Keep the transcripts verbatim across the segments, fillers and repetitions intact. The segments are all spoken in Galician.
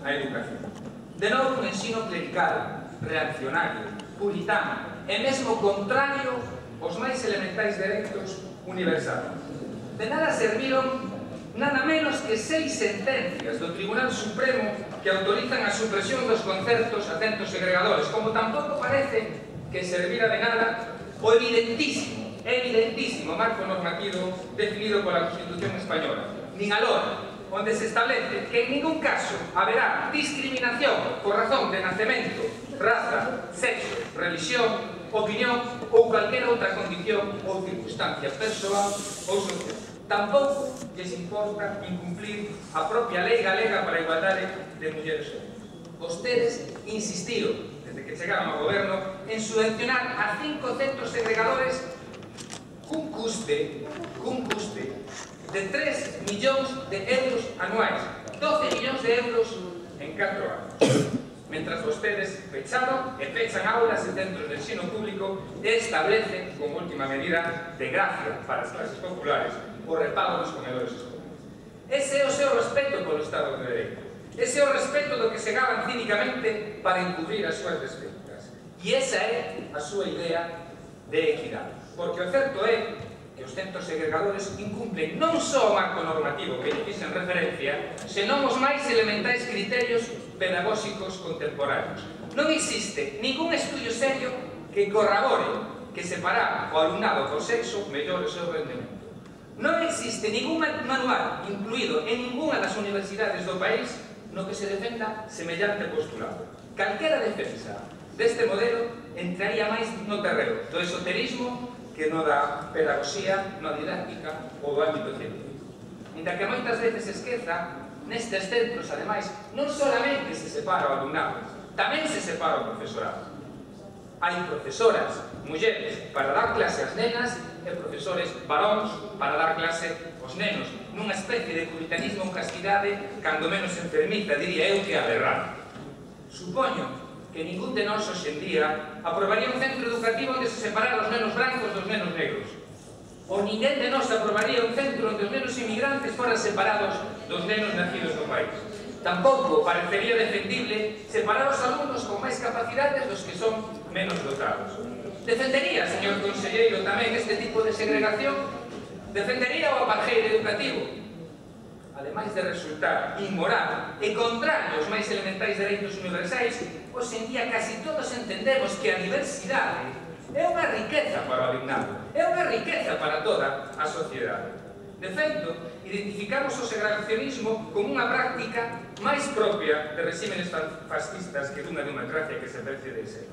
a educación. De novo, un ensino clerical, reaccionario, puritano e mesmo contrario aos máis elementais dereitos universais. De nada serviron nada menos que seis sentencias do Tribunal Supremo que autorizan a supresión dos concertos a centros segregadores, como tampouco parece que servira de nada o evidentísimo, evidentísimo marco normativo definido pola Constitución Española, nin alora, onde se establece que en ningún caso haberá discriminación por razón de nacemento, raza, sexo, religión, opinión ou calquera outra condición ou circunstancia persoal ou social. Tampouco lles importa incumplir a propia lei galega para a igualdade de mulleres e homes. Vostedes insistiron, desde que chegaron ao goberno, en subvencionar a cinco centros segregadores cun custe, cun custe de tres millóns de euros anuais, doce millóns de euros en catro anos. Mentras vostedes pecharon e pechan aulas e centros de ensino público e establecen, como última medida de gracia para as clases populares, o repago dos comedores escolares. Ese é o seu respeto polo Estado de Dereito. Ese é o respeto do que se gaban cínicamente para encubrir as súas despedidas. E esa é a súa idea de equidade. Porque o certo é que os centros segregadores incumplen non só o marco normativo que lle fixen referencia, senón os máis elementais criterios pedagóxicos contemporáneos. Non existe ningún estudio serio que corrobore que separar o alumnado por sexo mellore o seu rendemento. Non existe ningún manual incluído en ninguna das universidades do país no que se defenda semellante postulado. Calquera defensa deste modelo entraría máis no terreno do esoterismo que no da pedagogía, no didáctica ou do ámbito científico. Ainda que moitas veces esqueza, nestes centros, ademais, non solamente se separa o alumnado, tamén se separa o profesorado. Hai profesoras, mulleres, para dar clase ás nenas e profesores varóns para dar clase aos nenos, nunha especie de puritanismo ou castidade, cando menos enfermiza, diría eu, que aberrante. Supoño que ningún de nós hoxe en día aprobaría un centro educativo onde se separara os nenos brancos dos nenos negros. Ou ninguén de nós aprobaría un centro onde os nenos inmigrantes foran separados dos nenos nacidos no país. Tampouco parecería defendible separar os alumnos con máis capacidades dos que son menos dotados. Defendería, señor conselleiro, tamén este tipo de segregación? Defendería o apartheid educativo? Ademais de resultar inmoral e contrario aos máis elementais dereitos universais, hoxe en día casi todos entendemos que a diversidade é unha riqueza para o alumnado, é unha riqueza para toda a sociedade. De feito, identificamos o segregacionismo como unha práctica máis propia de regímenes fascistas que dunha democracia que se precie de ser.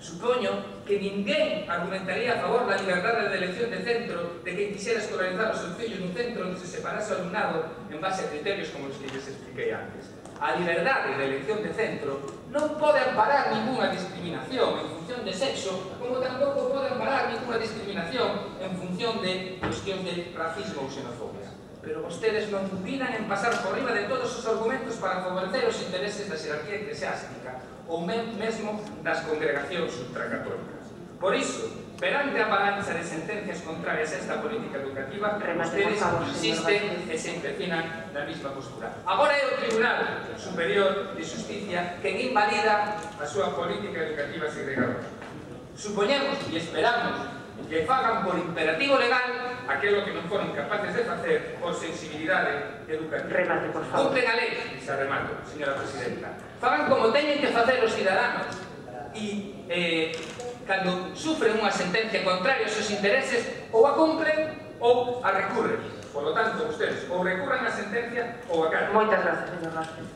Supoño que ninguén argumentaría a favor da liberdade de elección de centro de que quixera escolarizar os seus fillos nun centro onde se separase o alumnado en base a criterios como os que lles expliquei antes. A liberdade de elección de centro non pode amparar ninguna discriminación en función de sexo, como tampouco pode amparar ninguna discriminación en función de cuestión de racismo ou xenofobia. Pero vostedes non dubidan en pasar por riba de todos os argumentos para favorecer os intereses da xerarquía eclesiástica ou mesmo das congregacións ultracatólicas. Por iso, perante a avalancha de sentencias contrarias a esta política educativa, vostedes insisten e se empecinan na mesma postura. Agora é o Tribunal Superior de Justicia quen invalida a súa política educativa segregadora. Supoñemos e esperamos que fagan por imperativo legal aquilo que non foron capaces de facer por sensibilidade educativa. Remate, por favor. Cumplen a lei, se remato, señora presidenta. Fagan como teñen que facer os cidadanos e, eh, cando sufren unha sentencia contraria aos seus intereses, ou a cumplen ou a recurren. Por lo tanto, ustedes ou recurran a sentencia ou a catan. Moitas gracias, señor Vázquez.